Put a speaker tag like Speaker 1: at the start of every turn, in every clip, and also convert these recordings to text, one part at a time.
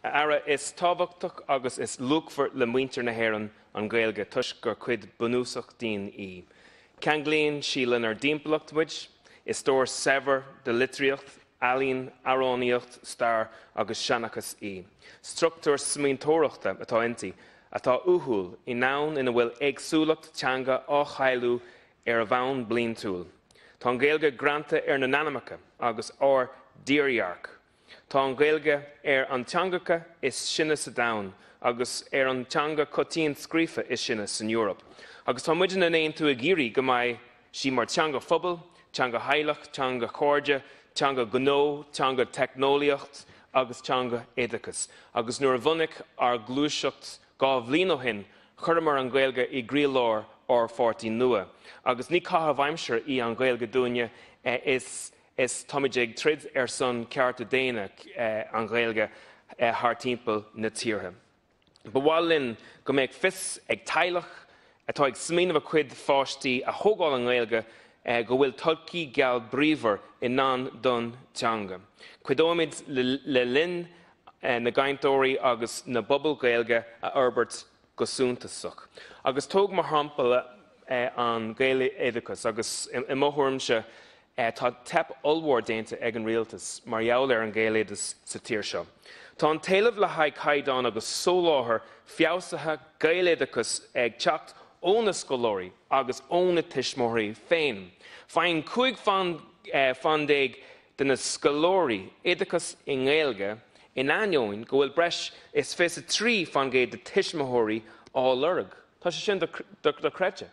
Speaker 1: A Aire, is tábhachtach agus is luachmhar le muintir na hÉireann an Ghaeilge toisc gur cuid bunúsach dínn í. Ceanglaíonn sí lenár dtimpeallacht muid, is stór saibhir de litríocht, ealaín, amhránaíocht, stair agus seanchas í. Struchtúr smaointeoireachta atá inti, atá uathúil i ndomhan ina bhfuil éagsúlacht teanga á chailleadh ar bhonn bliantúil. Tá an Ghaeilge greanta ar ár n-anamacha agus ár dtírdhreach. Tá an Ghaeilge ar an teangacha is sine sa domhan agus ar an teanga coitianta scríofa is sine san Eoraip. Agus tá muidne in Aontú ag iarraidh go mbeidh sí mar teanga phobail, teanga theaghlach, teanga chairde, teanga gnó, teanga teicneolaíocht agus teanga oideachais. Agus nuair a bhunaigh ár gluaiseacht 2 bhliain ó shin, chuireamar an Ghaeilge i gcroílár ár pháirtí nua. Agus ní caitheamh aimsire í an Ghaeilge dúinne, is is táimid ag troid ar son cearta daonna an Ghaeilge thar timpeall na tíortha. Ba mhaith linn go mbeadh fios ag teaghlach atá ag smaoineamh a cuid pháistí a thógáil i nGaeilge go bhfuil todhchaí geal bríomhar i ndán don teanga. Cuideoimid le líon na gcainteoirí agus na bpobal Gaeilge a fhorbairt go suntasach. Agus tóg mar shampla an Gaeloideachas, agus i mo thuairimse tá teip ollmhór déanta ag an rialtas mar gheall ar an Ghaeloideachas sa tír seo. Tá an t-éileamh le haghaidh caighdeán agus soláthar feabhsaithe Gaeloideachas ag teacht ó na scoláirí agus ó na tuismitheoirí féin. Faigheann 15 fan de na scoláirí oideachas i nGaeilge in ainneoin go bhfuil breis is 23% de tuismitheoirí á lorg. Tá sé sin dochreidte.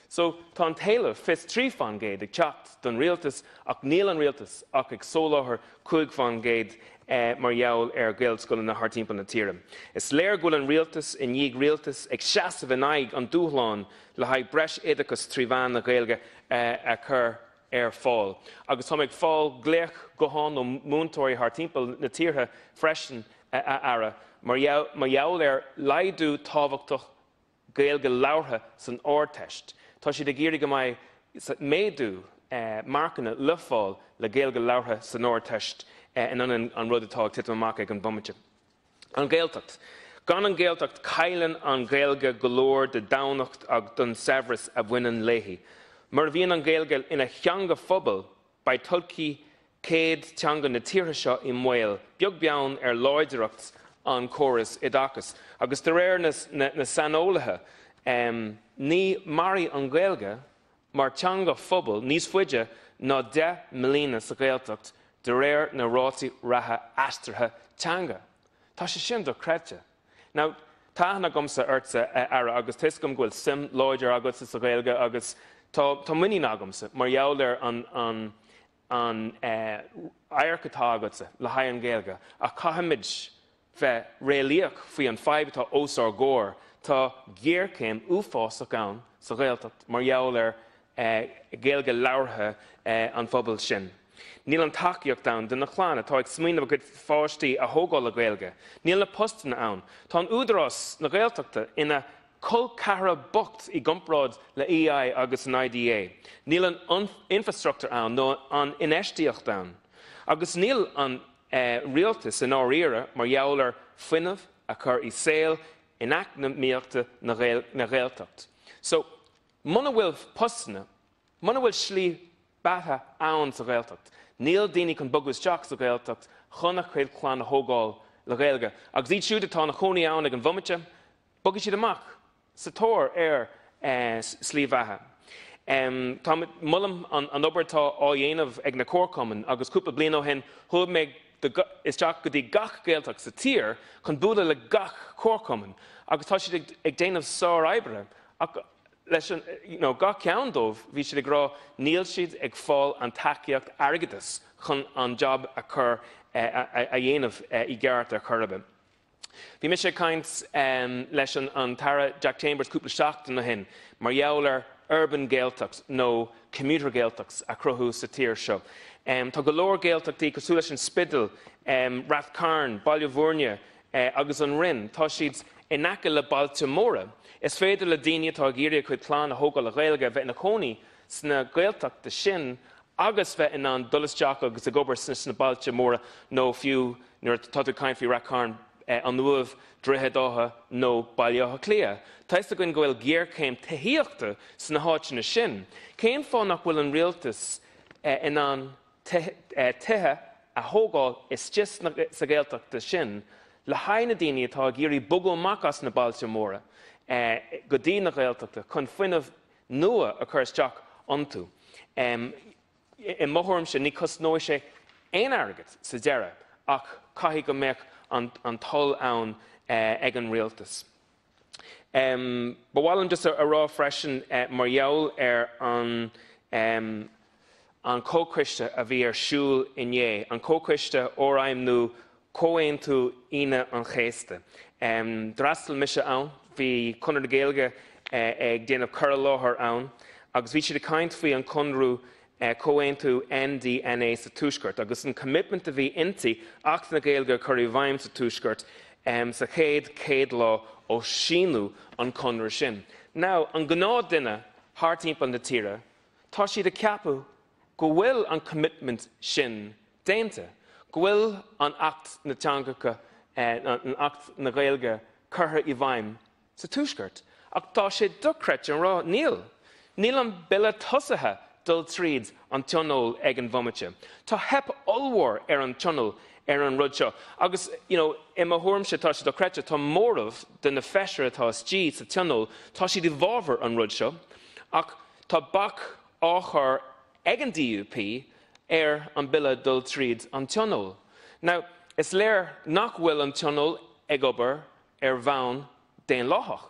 Speaker 1: So tá an t-éileamh 23% ag teacht don rialtas ach níl an rialtas ach ag soláthar 5% mar gheall ar Ghaelscoileanna thar timpeall na tíre. Is léir go bhfuil an rialtas i ndiaidh rialtas ag seasamh in aghaidh an dúshláin le haghaidh breis oideachas trí mheán na Gaeilge a chur ar fáil. Agus táim ag fáil glaoch gutháin ó múinteoirí thar timpeall na tíortha freisin, a Aire, mar gheall ar laghdú tábhachtach Gaeilge labhartha san Ardteist. Tá siad ag iarraidh go mbeidh méadú marcanna le fáil le Gaeilge labhartha san Ardteist in ionad an rud atá ag titim amach ag an bhomaite. An Ghaeltacht. Gan an Ghaeltacht cailleann an Ghaeilge go leor de daonnacht agus don saibhreas a bhaineann léi. Mura bhíonn an Ghaeilge ina theanga phobail, beidh todhchaí céad teanga na tíortha seo i mbaol, beag beann ar láidreacht an córas oideachais. Agus de réir na saineolaithe, ní mairfidh an Ghaeilge mar teanga phobail níos faide ná 10 mbliana sa Ghaeltacht de réir na rátaí reatha aistrithe teanga. Tá sé sin dochreidte. Now, tá aithne agamsa ortsa, a Aire, agus tá 'fhios agam go bhfuil suim láidir agatsa sa Ghaeilge agus tá tá muinín agamsa mar gheall ar an an an adharc atá agatsa le haghaidh an Ghaeilge ach caithfimid bheith réalaíoch faoi an fadhb atá os ár gcomhair. Tá géarchéim uafásach ann sa Ghaeltacht mar gheall ar Ghaeilge labhartha an phobail sin. Níl an tacaíocht ann do na clann atá ag smaoineamh a gcuid pháistí a thógáil le Gaeilge. Níl na postanna ann. Tá an Údarás na Gaeltachta ina col ceathracha bocht i gcomparáid le EI agus an IDA. Níl an infrastruchtúr ann nó an infheistíocht ann. Agus níl an rialtas i ndáiríre mar gheall ar fuinneamh a chur i saol eacnamaíochta na Gaeltacht. So, muna bhfuil postanna, muna bhfuil slí beatha ann sa Ghaeltacht, níl daoine chun bogadh isteach sa Ghaeltacht chun a chuid clann a thógáil le Gaeilge. Agus iad siúd atá ina chónaí ann ag an bhomaite, bogfaidh siad amach sa tóir ar slí bheatha. Tá molaim an obair atá á dhéanamh ag na comharchumainn agus cúpla bliain ó shin chuaigh mé isteach go dtí gach Gaeltacht sa tír chun bualadh le gach comharchumann agus tá siad ag déanamh sár-oibre ach leis an you know, gach ceann dóibh bhí siad ag rá níl siad ag fáil an tacaíocht airgeadais chun an job a chur a dhéanamh i gceart ar chor ar bith. Bhí mise ag caint leis an tAire Jack Chambers cúpla seachtain ó shin mar gheall ar urban Gaeltacht nó commuter Gaeltachts a chruthú sa tír seo. Tá go leor Gaeltachtaí cosúil leis an Spidéal, Rath Cairn, Baile Bhúirne agus an Rinn, tá siad in aice le bailte móra. Is féidir le daoine atá ag iarraidh a chuid clann a thógáil le Gaeilge bheith ina chónaí sna Gaeltachta sin agus bheith in ann dul isteach agus ag obair sna bailte móra nó fiú nuair atá tú ag caint faoi Rath Cairn. An Uaimh, Droichead Átha nó Baile Átha Cliath. Tá fhios againn go bhfuil géarchéim tithíochta sna háiteanna sin. Cén fáth nach bhfuil an rialtas in ann tithe a thógáil istigh sa Ghaeltachta sin le haghaidh na daoine atá ag iarraidh bogadh amach as na bailte móra go dtí na Gaeltachta chun fuinneamh nua a chur isteach iontu? I mo thuairimse, ní cosnóidh sé aon airgead sa deireadh ach caithfidh go mbeadh an toil ann ag an rialtas. Ba mhaith liom just a rá freisin mar gheall ar an an comhchoiste a bhí ar siúl inné, an comhchoiste fhorfheidhmiú Comhaontú Aoine an Chéasta. D'fhreastail mise ann, bhí Conradh na Gaeilge ag déanamh cur i láthair ann agus bhí siad ag caint faoi an conradh Comhaontú NDNA sa Tuaisceart agus an commitment a bhí inti Acht na Gaeilge a chur i bhfeidhm sa Tuaisceart sa chéad 100 lá ó síniú an conradh sin. Now, an gnáth duine thar timpeall na tíre, tá siad ag ceapadh go bhfuil an commitment sin déanta, go bhfuil an Acht na Teangacha, an Acht na Gaeilge curtha i bhfeidhm sa Tuaisceart. Ach tá sé dochreidte a rá, níl. Níl an bille tosaithe dul tríd an Tionól ag an bhomaite. Tá theip ollmhór ar an Tionól ar an rud seo. Agus, you know, i mo thuairimse tá sé dochreidte, tá móramh de na feisirí atá istigh sa Tionól, tá siad i bhfabhar an rud seo, ach tá bac á chur ag an DUP ar an bille dul tríd an Tionól. Now, is léir nach bhfuil an Tionól ag obair ar bhonn daonlathach.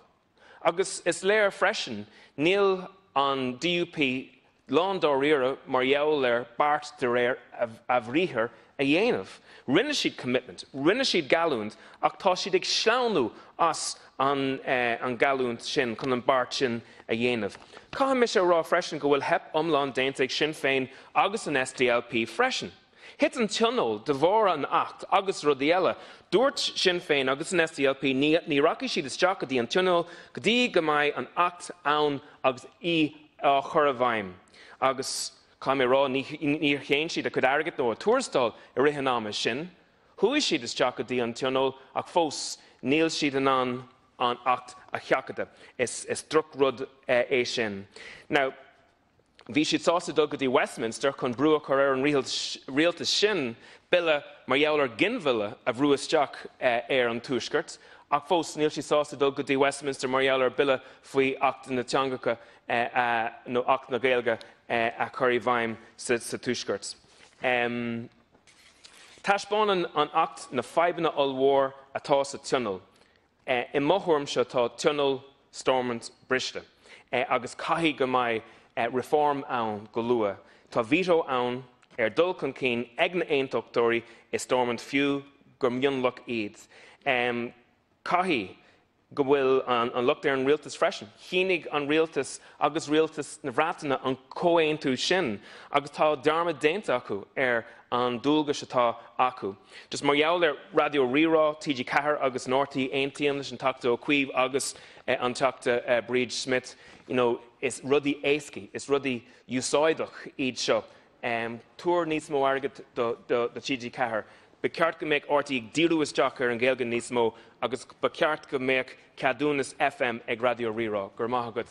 Speaker 1: Agus is léir freisin níl an DUP lán dáiríre mar gheall ar beart de réir a bhriathair a dhéanamh. Rinne siad commitment, rinne siad geallúint ach tá siad ag sleamhnú as an ngeallúint sin chun an beart sin a dhéanamh. Caithfidh mise a rá freisin go bhfuil theip iomlán déanta ag Sinn Féin agus an SDLP freisin. Thit an Tionól de bharr an Acht agus rudaí eile. Dúirt Sinn Féin agus an SDLP ní rachaidh siad isteach go dtí an Tionól go dtí go mbeidh an Acht ann agus í á chur i bhfeidhm. Agus caithfidh mé a rá níor shéan siad a cuid airgid nó a tuarastal i rith an ama sin. Chuaigh siad isteach go dtí an Tionól ach fós níl siad in ann an Acht a sheachadadh. Is drochrud é sin. Now, bhí siad sásta dul go dtí Westminster chun brú a chur ar an rialtas sin bille mar gheall ar ghinmhilleadh a bhrú isteach ar an Tuaisceart, ach fós níl siad sásta dul go dtí Westminster mar gheall ar bille faoi Acht na Teangacha nó Acht na Gaeilge a chur i bhfeidhm sa Tuaisceart. Taispeánann an Acht na fadhbanna ollmhór atá sa Tionól. I mo thuairimse tá Tionól Stormont briste agus caithfidh go mbeidh reform ann go luath. Tá veto ann ar dul chun cinn ag na aontachtóirí i Stormont fiú gur mionlach iad. Caithfidh go bhfuil an locht ar an rialtas freisin. Shínigh an rialtas agus rialtas na Breataine an comhaontú sin agus tá dearmad déanta acu ar an dualgais atá acu. Just mar gheall ar Raidió Rí-Rá, TG4 agus an RTÉ aontaím leis an Teachta Ó Cuív agus an Teachta Bríd Smith, you know, is rudaí éascaí, is rudaí úsáideach iad seo. Tabhair níos mó airgid do TG4. Ba cheart go mbeadh RTÉ ag díriú isteach ar an Ghaeilge níos mó agus ba cheart go mbeadh ceadúnas FM ag Raidió Rí-Rá. Go raibh maith agat.